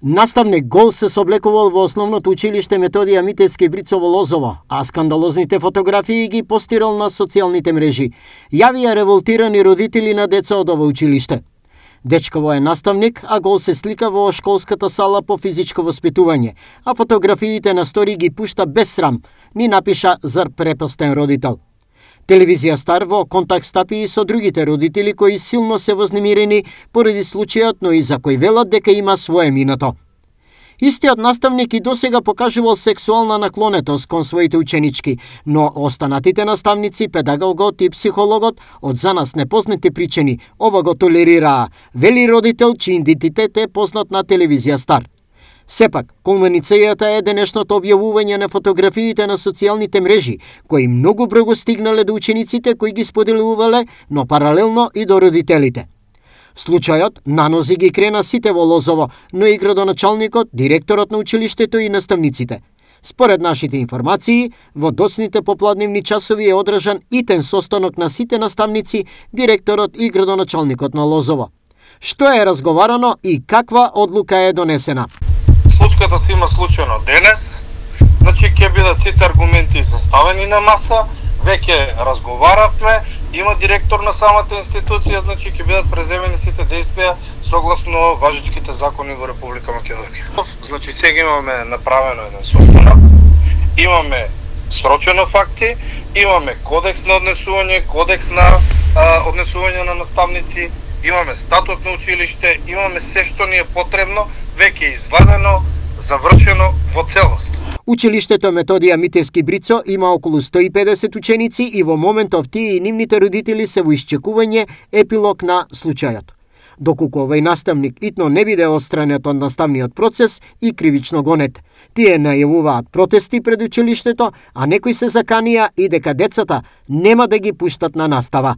Наставник гол се соблекувал во основното училиште Методија Митевски Брицо во Лозово, а скандалозните фотографии ги постирал на социјалните мрежи. Јавија револтирани родители на деца од ова училиште. Дечково е наставник, а гол се слика во школската сала по физичко воспитување, а фотографиите на стори ги пушта без срам, ни напиша зар препостен родител. Телевизија Стар во контакт стапи и со другите родители кои силно се вознемирени поради случајот, но и за кои велат дека има свое минато. Истиот наставник и досега покажувал сексуална наклонетост кон своите ученички, но останатите наставници, педагогот и психологот од за нас непознати причини ова го толерираа, вели родител чиј идентитет е познат на телевизија Стар. Сепак, кулминицијата е денешното објавување на фотографиите на социјалните мрежи, кои многу брзо стигнале до учениците кои ги споделувале, но паралелно и до родителите. Случајот нанози ги крена сите во Лозово, но и градоначалникот, директорот на училиштето и наставниците. Според нашите информации, во доцните попладневни часови е одржан итен состанок на сите наставници, директорот и градоначалникот на Лозово. Што е разговарано и каква одлука е донесена? Случката се има случајно денес, значи ќе бидат сите аргументи заставени на маса, веќе разговаравме, има директор на самата институција, значи ќе бидат преземени сите действија согласно важечките закони во Република Македонија. Значи сега имаме направено еден состанок, имаме срочено факти, имаме кодекс на однесување, кодекс на однесување на наставници, имаме статут на училиште, имаме се што ни е потребно, веќе извадено, завршено во целост. Училиштето Методија Митевски Брицо има околу 150 ученици и во моментов тие и нивните родители се во исчекување епилог на случајот. Доколку овој наставник итно не биде отстранет од наставниот процес и кривично гонет. Тие најавуваат протести пред училиштето, а некои се заканија и дека децата нема да ги пуштат на настава.